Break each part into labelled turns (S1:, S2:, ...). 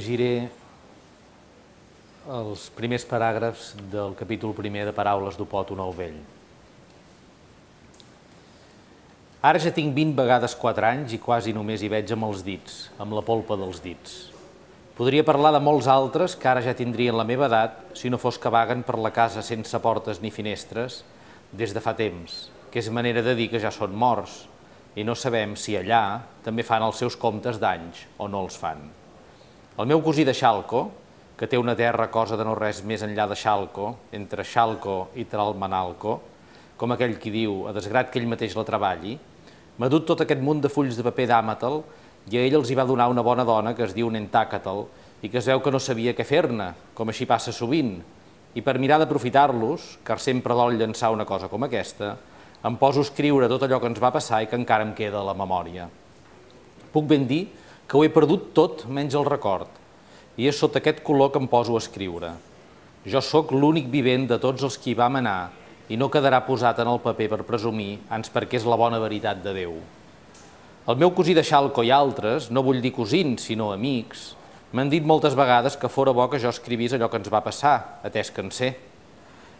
S1: Llegiré els primers paràgrafs del capítol primer de Paraules d'Opòton el Vell. Ara ja tinc 20 vegades 4 anys i quasi només hi veig amb els dits, amb la polpa dels dits. Podria parlar de molts altres que ara ja tindrien la meva edat si no fos que vaguen per la casa sense portes ni finestres des de fa temps, que és manera de dir que ja són morts i no sabem si allà també fan els seus comptes d'anys o no els fan. El meu cosí de Xalco, que té una terra cosa de no res més enllà de Xalco, entre Xalco i Tralmanalco, com aquell qui diu, a desgrat que ell mateix la treballi, m'ha dut tot aquest munt de fulls de paper d'Àmatel i a ell els hi va donar una bona dona que es diu Nentàcatel i que es veu que no sabia què fer-ne, com així passa sovint, i per mirar d'aprofitar-los, car sempre dol llançar una cosa com aquesta, em poso a escriure tot allò que ens va passar i que encara em queda a la memòria. Puc ben dir que ho he perdut tot menys el record, i és sota aquest color que em poso a escriure. Jo sóc l'únic vivent de tots els qui hi vam anar i no quedarà posat en el paper per presumir, ans perquè és la bona veritat de Déu. El meu cosí de Xalco i altres, no vull dir cosins, sinó amics, m'han dit moltes vegades que fora bo que jo escrivís allò que ens va passar, atès que en sé.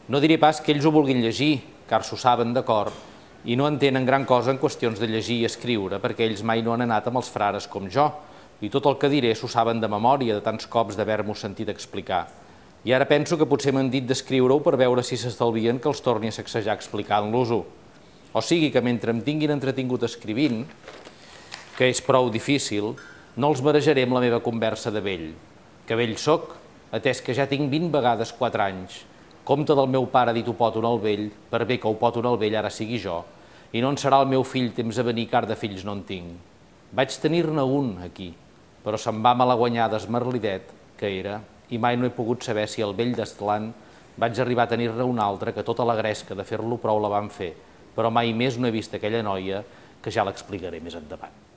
S1: No diré pas que ells ho vulguin llegir, car s'ho saben de cor, i no entenen gran cosa en qüestions de llegir i escriure, perquè ells mai no han anat amb els frares com jo, i tot el que diré s'ho saben de memòria de tants cops d'haver-m'ho sentit explicar. I ara penso que potser m'han dit d'escriure-ho per veure si s'estalvien que els torni a sacsejar explicant-los-ho. O sigui que mentre em tinguin entretingut escrivint, que és prou difícil, no els marejaré amb la meva conversa de vell, que vell soc, atès que ja tinc 20 vegades 4 anys, compte del meu pare dit Opòton el Vell, per bé que Opòton el Vell ara sigui jo, i no en serà el meu fill temps a venir, car de fills no en tinc. Vaig tenir-ne un aquí, però se'n va malaguanyar d'esmerlidet, que era, i mai no he pogut saber si el vell d'Estlan vaig arribar a tenir-ne un altre que tota la gresca de fer-lo prou la van fer, però mai més no he vist aquella noia, que ja l'explicaré més endavant.